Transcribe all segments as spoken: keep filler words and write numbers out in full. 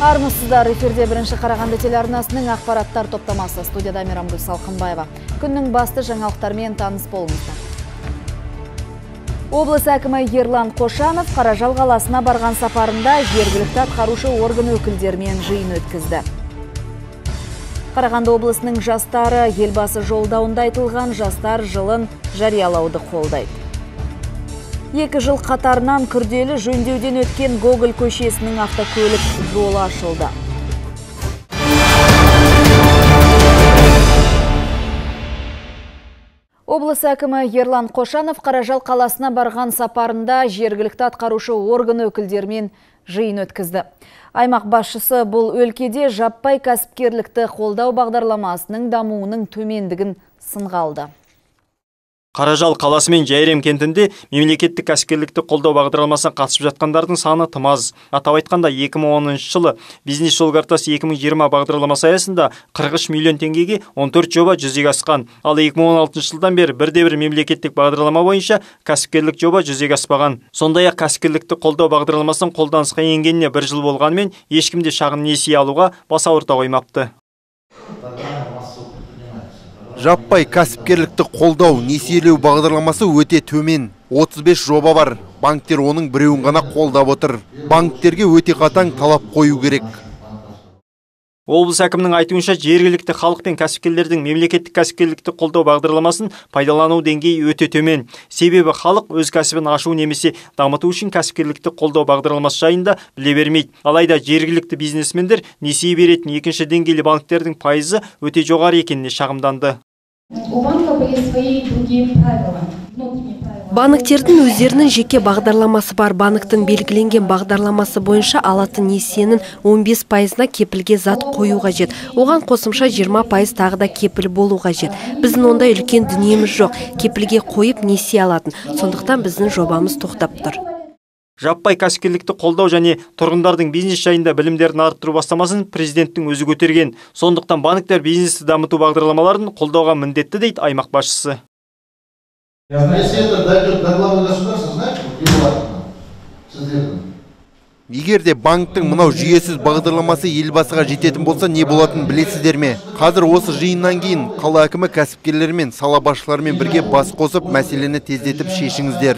Армысыздар, эфирде бірінші Қарағанды телеарнасының ақпараттар топтамасы. Студияда Мейрамгүл Салқынбаева. Күннің басты жаңалықтармен таныс болыңыздар. Облыс әкімі Ерлан Қошанов Қаражал қаласына барған сапарында жергілікті атқарушы орган өкілдерімен жиын өткізді. Қарағанды облысының жастары елбасы жолдауында айтылған жастар жылын жариялауды қолдайды. Екі жыл қатарынан күрделі жөндеуден өткен Гоголь көшесінің автокөлік жолы ашылды. Облыс әкімі Ерлан Қошанов Қаражал қаласына барған сапарында жергілікті атқарушы орган өкілдерімен жиын өткізді. Аймақ басшысы бұл өлкеде жаппай кәсіпкерлікті қолдау бағдарламасының дамуының төмендігін сынға алды. Қаражал қаласы мен Жайрем кентінде мемлекеттік кәсіпкерлікті қолдау бағдарламасына қатысып жатқандардың саны тым аз. Атап айтқанда екі мың оныншы жылы бизнес жол картасы екі мың жиырма бағдарламасы аясында қырық үш миллион теңгеге он төрт жоба жүзеге асқан. Ал екі мың он алтыншы жылдан бері бірде-бір мемлекеттік бағдарлама бойынша кәсіпкерлік жоба жүзеге аспаған. Сондай-ақ кәсіпкерлікті қолдау бағдарламасының қолданысқа енгеніне бір жыл болғанымен ешкімде шағын несие алуға бас ауырта қоймапты. Жаппай кәсіпкерлікті қолдау несиелеу бағдарламасы өте төмен. отыз бес жоба бар. Банктер оның біреуін ғана қолдап отыр. Банктерге өте қатаң талап қою керек. Облыс әкімінің айтуынша жергілікті халық пен кәсіпкерлердің мемлекеттік кәсіпкерлікті қолдау бағдарламасын пайдалану деңгейі өте төмен. Себебі халық өз кәсібін ашу немесе дамыту үшін кәсіпкерлікті қолдау бағдарламасы жайында біле бермейді. Алайда жергілікті бизнесмендер несие беретін екінші деңгейлі банктердің пайызы өте жоғары екеніне шағымданды. Банктердің өздерінің жеке бағдарламасы бар. Банктың белгіленген бағдарламасы бойынша алатын несиенің он бес пайызына кепілге зат қою қажет. Оған қосымша жиырма пайыз тағы да кепіл болу қажет. Біздің ондай үлкен дүниеміз жоқ. Кепілге қойып несие алатын. Сондықтан біздің жобамыз тоқтап тұр. Жаппай кәсіпкерлікті қолдау және тұрғындардың бизнес жайында білімдерін арттыру бастамасын президенттің өзі көтерген. Сондықтан банктер бизнесті дамыту бағдарламаларын қолдауға міндетті дейді аймақ басшысы. Егер де банктың мынау жүйесіз бағдарламасы елбасыға жететін болса, не болатын білесіздер ме? Қазір осы жиыннан кейін қала әкімі кәсіпкерлермен, сала басшыларымен бірге бас қосып, мәселені тездетіп шешіңіздер.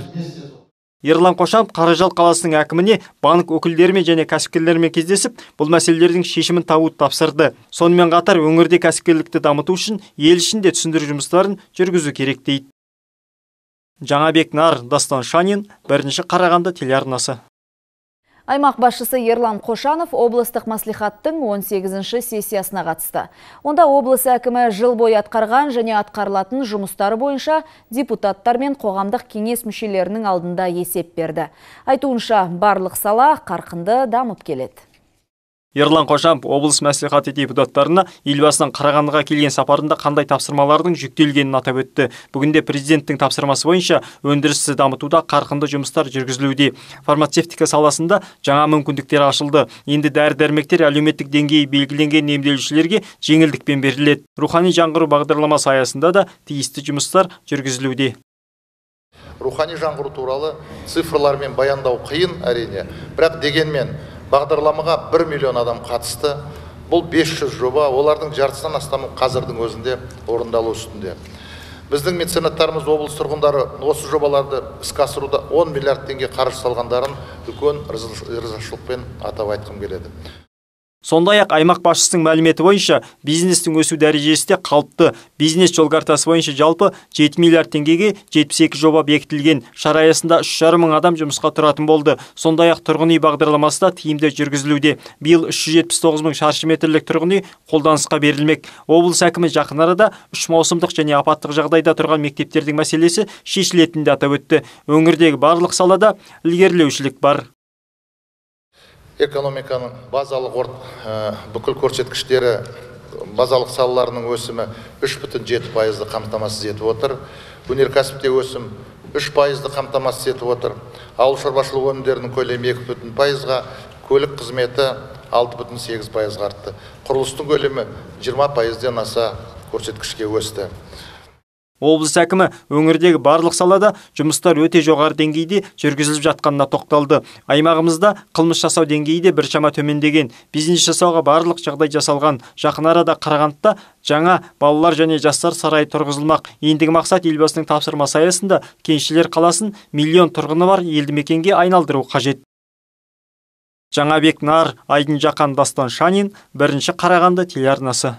Ерлан Қошанов Қаражал қаласының әкіміне банк өкілдерімен және кәсіпкерлермен кездесіп, бұл мәселелердің шешімін табуды тапсырды. Сонымен қатар өңірде кәсіпкерлікті дамыту үшін ел ішінде түсіндіру жұмыстарын жүргізу керек дейді. Жаңабек Нар, Дастан Шанин, бірінші Қарағанды телеарнасы. Аймақ басшысы Ерлан Қошанов облыстық маслихаттың он сегізінші сессиясына қатысты. Онда облыс әкімі жыл бойы атқарған және атқарылатын жұмыстары бойынша депутаттар мен қоғамдық кеңес мүшелерінің алдында есеп берді. Айтуынша, барлық сала қарқынды дамып келеді. Ерлан Қошанов облыс мәслихаты депутаттарына елбасының Қарағандыға келген сапарында қандай тапсырмалардың жүктелгенін атап өтті. Бүгінде президенттің тапсырмасы бойынша өндірісті дамытуда қарқынды жұмыстар жүргізілуде. Фармацевтика саласында жаңа мүмкіндіктер ашылды. Енді дәрі-дәрмектер әлеуметтік деңгейі белгіленген емделушілерге жеңілдікпен беріледі. Рухани жаңғыру бағдарламасы аясында да тиісті жұмыстар жүргізілуде. Рухани жаңғыру туралы цифрлармен баяндау қиын әрине, бірақ дегенмен бағдарламаға бір миллион адам қатысты. Бұл бес жүз жоба, олардың жартысынан астамы қазірдің өзінде орындалу үстінде. Біздің меценаттарымыз, облыс тұрғындары осы жобаларды іске асыруда он миллиард теңге қаржы салғандарын үлкен ризашылықпен атап айтқым келеді. Сондай-ақ аймақ басшысының мәліметі бойынша бизнестің өсу дәрежесі де қалыпты. Бизнес жол картасы бойынша жалпы жеті миллиард теңгеге жетпіс екі жоба бекітілген. Шара аясында үш жарым мың адам жұмысқа тұратын болды. Сондай-ақ тұрғын үй бағдарламасы да тиімді жүргізілуде. Биыл үш жүз жетпіс тоғыз мың шаршы метрлік тұрғын үй қолданысқа берілмек. Облыс әкімі жақын арада үш маусымдық және апаттық жағдайда тұрған мектептердің мәселесі шешілетінін атап өтті. Өңірдегі барлық салада ілгерілеушілік бар. Экономиканың базалық орт бүкіл көрсеткіштері, базалық салаларының өсімі үш бүтін жеті пайызды қамтамасыз етіп отыр. Өнеркәсіпте өсім үш пайызды қамтамасыз етіп отыр. Ауыл шаруашылығы өнімдерінің көлемі екі бүтін пайызға, көлік қызметі алты бүтін сегіз пайызға артты. Құрылыстың көлемі жиырма пайыздан аса көрсеткішке өсті. Облыс әкімі өңірдегі барлық салада жұмыстар өте жоғары деңгейде жүргізіліп жатқанына тоқталды. Аймағымызда қылмыс жасау деңгейі де біршама төмендеген. Бизнес жасауға барлық жағдай жасалған. Жақын арада Қарағандыда жаңа балалар және жастар сарайы тұрғызылмақ. Ендігі мақсат елбасының тапсырмасы аясында Кеншілер қаласын миллион тұрғыны бар елді мекенге айналдыру қажет. Жаңабек Нар, Айдын Жақан, Дастан Шанин, бірінші Қарағанды телеарнасы.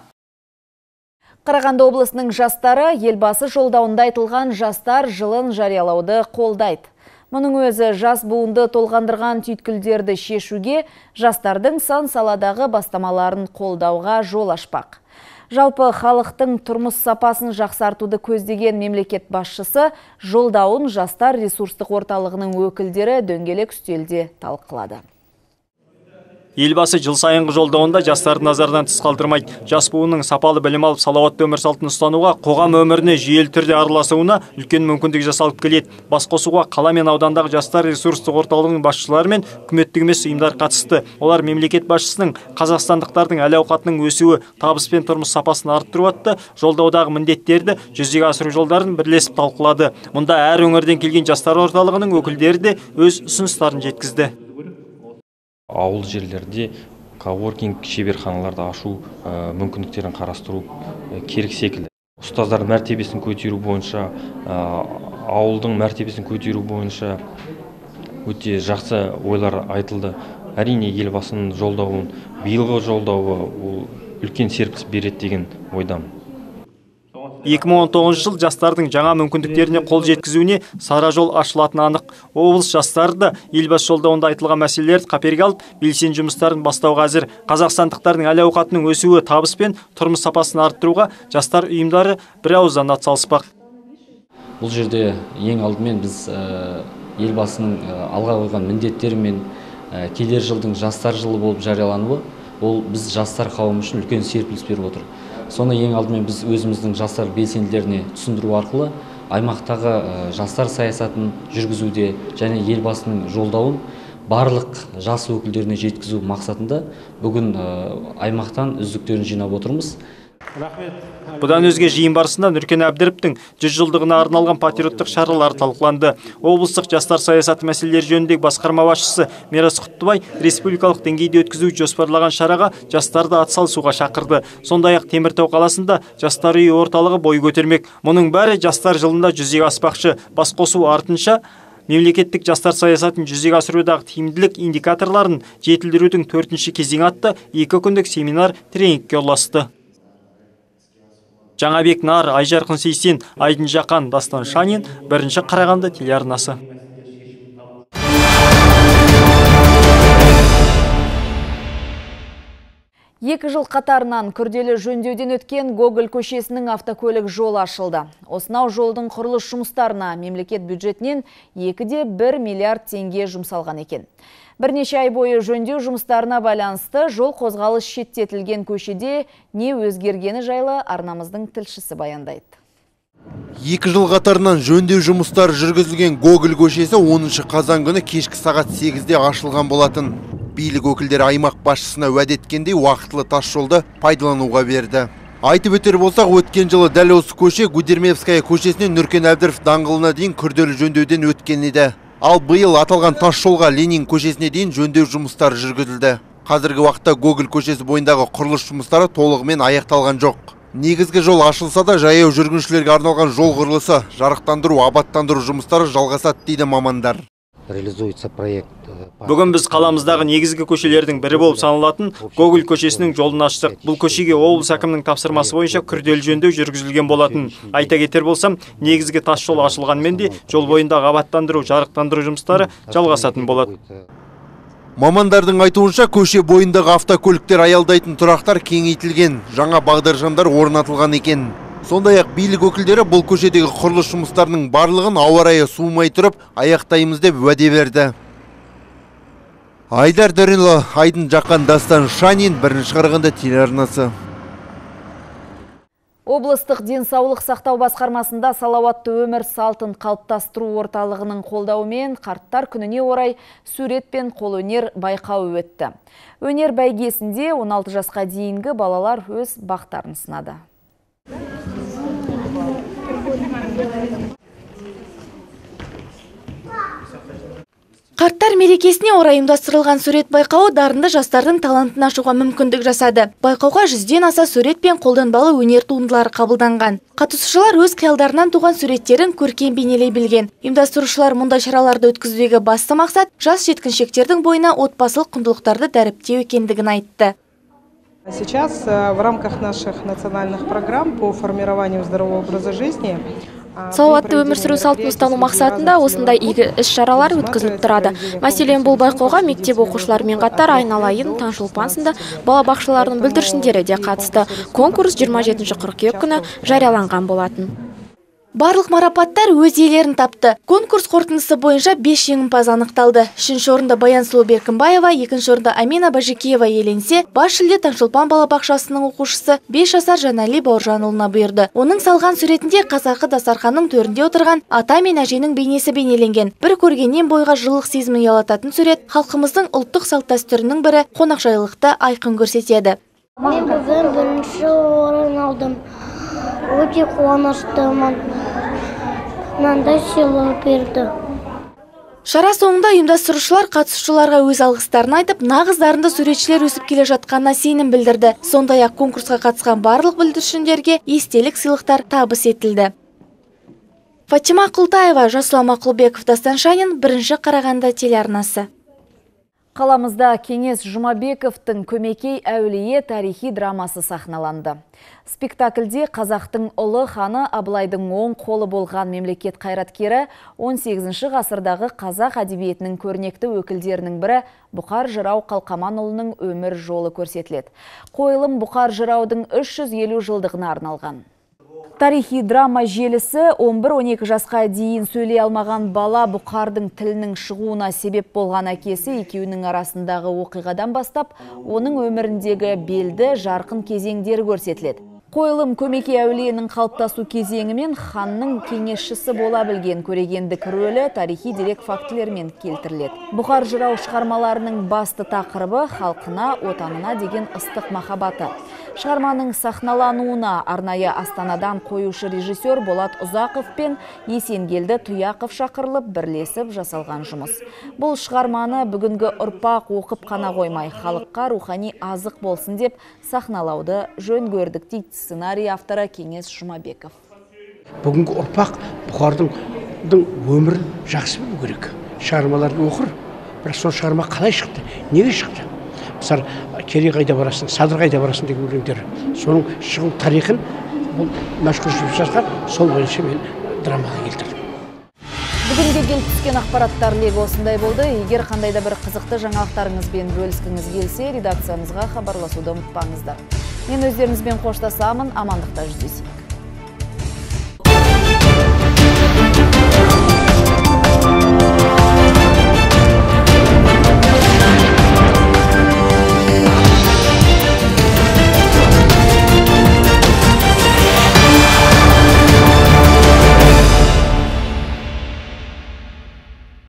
Қарағанды облысының жастары елбасы жолдауында айтылған жастар жылын жариялауды қолдайды. Мұның өзі жас буынды толғандырған түйткілдерді шешуге, жастардың сан саладағы бастамаларын қолдауға жол ашпақ. Жалпы халықтың тұрмыс сапасын жақсартуды көздеген мемлекет басшысы жолдауын жастар ресурстық орталығының өкілдері дөңгелек үстелде талқылады. Елбасы жыл сайынғы жолдауында жастарды назардан тыс қалдырмайды. Жас буынның сапалы білім алып, салауатты өмір салтын ұстануға, қоғам өміріне жүйелі түрде араласуына үлкен мүмкіндік жасалып келеді. Басқосуға қала мен аудандағы жастар ресурстық орталығының басшылары мен үкіметтік емес ұйымдар қатысты. Олар мемлекет басшысының қазақстандықтардың әл-ауқатының өсуі, табыс пен тұрмыс сапасын арттыру атты жолдаудағы міндеттерді жүзеге асыру жолдарын бірлесіп талқылады. Мұнда әр өңірден келген жастар орталығының өкілдері де өз ұсыныстарын жеткізді. Ауыл жерлерде коворкинг шеберханаларды ашу мүмкіндіктерін қарастыру керек секілді. Ұстаздар мәртебесін көтеру бойынша, ауылдың мәртебесін көтеру бойынша өте жақсы ойлар айтылды. Әрине елбасының жолдауын, биылғы жолдауы үлкен серпіліс береді деген ойдамын. екі мың он тоғызыншы жыл жастардың жаңа мүмкіндіктеріне қол жеткізуіне сара жол ашылатыны анық. Облыс жастары да елбасы жолдауында айтылған мәселелерді қаперге алып, белсенді жұмыстарын бастауға әзір. Қазақстандықтардың әл-ауқатының өсуі, табыс пен тұрмыс сапасын арттыруға жастар ұйымдары бір ауыздан атсалыспақ. Бұл жерде ең алдымен біз елбасының алға қойған міндеттері мен келер жылдың жастар жылы болып жариялануы, ол біз жастар қауымы үшін үлкен серпіліс беріп отыр. Соны ең алдымен біз өзіміздің жастар белсенділеріне түсіндіру арқылы аймақтағы жастар саясатын жүргізуде және елбасының жолдауын барлық жас өкілдеріне жеткізу мақсатында бүгін аймақтан үздіктерін жинап отырмыз. Бұдан өзге жиын барысында Нұркен Әбдіровтің жүз жылдығына арналған патриоттық шаралар талқыланды. Облыстық жастар саясаты мәселелері жөніндегі басқарма басшысы Мирас Құттыбай республикалық деңгейде өткізу жоспарлаған шараға жастарды атсалысуға шақырды. Сондай-ақ Теміртау қаласында жастар үйі орталығы бой көтермек. Мұның бәрі жастар жылында жүзеге аспақшы. Басқосу артынша мемлекеттік жастар саясатын жүзеге асырудағы тиімділік индикаторларын жетілдірудің төртінші кезеңі атты екі күндік семинар тренингке ұласты. Жаңабек Нар, Айжарқын Сейсен, Айдын Жақан, Дастан Шанин, бірінші Қарағанды телеарнасы. Екі жыл қатарынан күрделі жөндеуден өткен Гоголь көшесінің автокөлік жолы ашылды. Осынау жолдың құрылыс жұмыстарына мемлекет бюджетінен екі де бір миллиард теңге жұмсалған екен. Бірнеше ай бойы жөндеу жұмыстарына байланысты жол қозғалыс шеттетілген көшеде не өзгергені жайлы арнамыздың тілшісі баяндайды. Екі жыл қатарынан жөндеу жұмыстары жүргізілген Гоголь көшесі оныншы қазан күні кешкі сағат сегізде ашылған болатын. Билік өкілдері аймақ басшысына уәде еткендей уақытылы тас жолды пайдалануға берді. Айтып өтер болсақ, өткен жылы дәл осы көше Гудермевская көшесінен Нұркен Әбдіров даңғылына дейін күрделі жөндеуден өткен еді. Ал биыл аталған тас жолға Ленин көшесіне дейін жөндеу жұмыстары жүргізілді. Қазіргі уақытта Гоголь көшесі бойындағы құрылыс жұмыстары толығымен аяқталған жоқ. Негізгі жол ашылса да жаяу жүргіншілерге арналған жол құрылысы, жарықтандыру, абаттандыру жұмыстары жалғасады дейді мамандар. Реализуется проект. Бүгін біз қаламыздағы негізгі көшелердің бірі болып саналатын Гоголь көшесінің жолын аштық. Бұл көшеге облыс әкімінің тапсырмасы бойынша күрделі жөндеу жүргізілген болатын. Айта кетер болсам, негізгі тас жол ашылғанмен де жол бойындағы абаттандыру, жарықтандыру жұмыстары жалғасатын болады. Мамандардың айтуынша көше бойындағы автокөліктер аялдайтын тұрақтар кеңейтілген, жаңа бағдаршамдар орнатылған екен. Сондай-ақ билік өкілдері бұл көшедегі құрылыс жұмыстарының барлығын ауа райы суымай тұрып аяқтаймыз деп уәде берді. Айдар Дөренұлы, Айдын Жақан, Дастан Шанин, бірінші Қарағанды телеарнасы. Облыстық денсаулық сақтау басқармасында салауатты өмір салтын қалыптастыру орталығының қолдауымен қарттар күніне орай сурет пен қолөнер байқауы өтті. Өнер бәйгесінде он алты жасқа дейінгі балалар өз бақтарын сынады. Қарттар мерекесіне орай ұйымдастырылған сурет байқауы дарынды жастардың талантын ашуға мүмкіндік жасады. Байқауға жүзден аса сурет пен қолданбалы өнер туындылары қабылданған. Қатысушылар өз қиялдарынан туған суреттерін көркем бейнелей білген. Ұйымдастырушылар мұндай шараларды өткізудегі басты мақсат жас жеткіншектердің бойына отбасылық құндылықтарды дәріптеу екендігін айтты. Сейчас в рамках наших национальных программ по формированию здорового образа жизни Салауатты өмір сүру салтын ұстану мақсатында осындай игі іс-шаралар өткізіліп тұрады. Мәселен, бұл байқауға мектеп оқушыларымен қатар Айналайын, Таңшолпан сынды балабақшаларының бүлдіршіндері де қатысты. Конкурс жиырма жетінші қыркүйек күні жарияланған болатын. Барлық марапаттар өз иелерін тапты. Конкурс қорытындысы бойынша бес жеңімпаз анықталды. Үшінші орында Баян Сұлу Беркімбаева, екінші орында Амина Бажикеева иеленсе, бас жүлде Таңшолпан балабақшасының оқушысы бес жасар Жанали Бауыржанұлына бұйырды. Оның салған суретінде қазақы дастарханның төрінде отырған ата мен әженің бейнесі бейнеленген. Bir көргеннен бойға жылылық сезімін ұялататын сурет халқымыздың ұлттық салт-дәстүрінің бірі қонақжайлылықты айқын көрсетеді. Мен бүгін бірінші орын алдым. Өте қуаныштымын. Мынандай сыйлық берді. Шара соңында ұйымдастырушылар қатысушыларға өз алғыстарын айтып, нағыз дарынды суретшілер өсіп келе жатқанына сенім білдірді. Сондай-ақ конкурсқа қатысқан барлық бүлдіршіндерге естелік сыйлықтар табыс етілді. Фатима Құлтаева, Жасұлан Мақұлбеков, Дастан Шанин, бірінші Қарағанды телеарнасы. Қаламызда Кеңес Жұмабековтың «Көмекей әулие» тарихи драмасы сахналанды. Спектакльде қазақтың ұлы ханы Абылайдың оң қолы болған мемлекет қайраткері он сегізінші ғасырдағы қазақ әдебиетінің көрнекті өкілдерінің бірі Бұқар Жырау Қалқаманұлының өмір жолы көрсетіледі. Қойылым Бұқар Жыраудың үш жүз елу жылдығына арналған. Тарихи драма желісі он бір он екі жасқа дейін сөйлей алмаған бала Бұқардың тілінің шығуына себеп болған әкесі екеуінің арасындағы оқиғадан бастап, оның өміріндегі белді жарқын кезеңдері көрсетіледі. Қойылым Көмекей әулиенің қалыптасу кезеңі мен ханның кеңесшісі бола білген көрегендік рөлі тарихи дерек фактілермен келтіріледі. Бұқар Жырау шығармаларының басты тақырыбы халқына, отанына деген ыстық махаббаты. Шығарманың сахналануына арнайы Астанадан қоюшы режиссер Болат Ұзақов пен Есенгелді Тұяқов шақырылып бірлесіп жасалған жұмыс. Бұл шығарманы бүгінгі ұрпақ оқып қана қоймай, халыққа рухани азық болсын деп сахналауды жөн көрдік дейді сценарий авторы Кеңес Жұмабеков. Бүгінгі ұрпақ Бұқардың өмірін жақсы білу керек. Шығармаларын оқыр, бірақ сол шығарма қалай шықты, неге шықты? Мысалы, Керей қайда барасың, Садыр қайда барасың деген өлеңдер. Соның шығу тарихын бұл мәшһүр жазған, сол бойынша мен драмаға келтірдім. Бүгінге келіп түскен ақпараттар легі осындай болды. Егер қандай да бір қызықты жаңалықтарыңызбен бөліскіңіз келсе, редакциямызға хабарласуды ұмытпаңыздар. Мен өздеріңізбен қоштасамын, амандықта жүздесейік.